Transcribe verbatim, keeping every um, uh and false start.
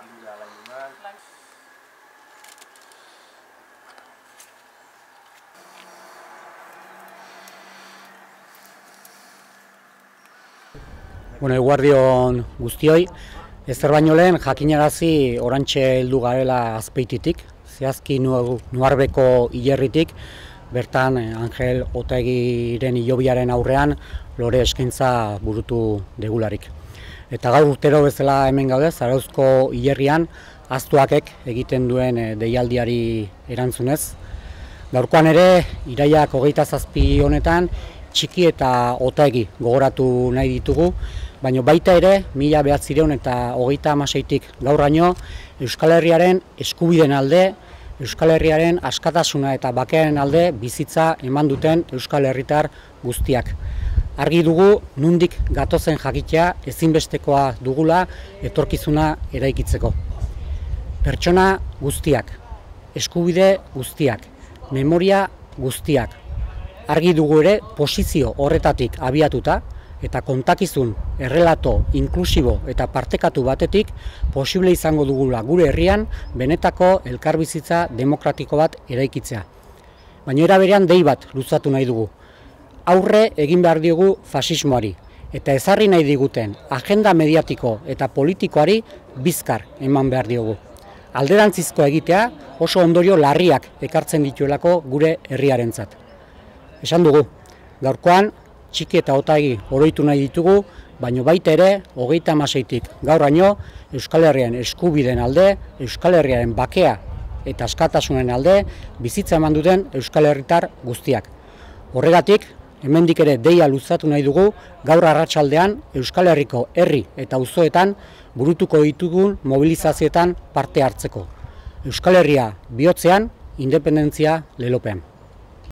landu da lan. Bueno, eguerdion guztioi, ezer baino lehen jakinarazi orantxe heldu garela Azpeititik, zehazki Nuarbeko hilerritik, bertan Angel Otaegiren hilobiaren aurrean lore eskaintza burutu degularik. Eta gaur urtero bezala hemen gaude, Zarauzko hilerrian Aztuakek egiten duen deialdiari erantzunez. Gaurkoan ere, irailak hogeita zazpi honetan, Txiki eta Otaegi gogoratu nahi ditugu, baina baita ere, mila bederatziehun eta hogeita hamaseitik gaurraino, Euskal Herriaren eskubideen alde, Euskal Herriaren askatasuna eta bakearen alde bizitza eman duten Euskal Herritar guztiak. Argi dugu, nundik gatozen jakitea ezinbestekoa dugula etorkizuna eraikitzeko. Pertsona guztiak, eskubide guztiak, memoria guztiak. Argi dugu ere posizio horretatik abiatuta eta kontakizun, errelato, inklusibo eta partekatu batetik posible izango dugula gure herrian benetako elkarbizitza demokratiko bat eraikitzea. Baina era berean dei bat luzatu nahi dugu. Aurre egin behar diogu fasismoari eta ezarri nahi diguten agenda mediatiko eta politikoari bizkar eman behar diogu. Alderantzizko egitea oso ondorio larriak ekartzen dituelako gure herriarentzat. Esan dugu, gaurkoan Txiki eta Otaegi oroitu nahi ditugu, baina baita ere, hogeita hamaseitik gauraino, Euskal Herriaren eskubideen alde, Euskal Herriaren bakea eta askatasunen alde, bizitza eman duten Euskal Herritar guztiak. Horregatik, hemendik ere deia luzatu nahi dugu, gaur arratsaldean Euskal Herriko herri eta auzoetan burutuko ditugun mobilizazioetan parte hartzeko. Euskal Herria bihotzean, independentzia lelopean.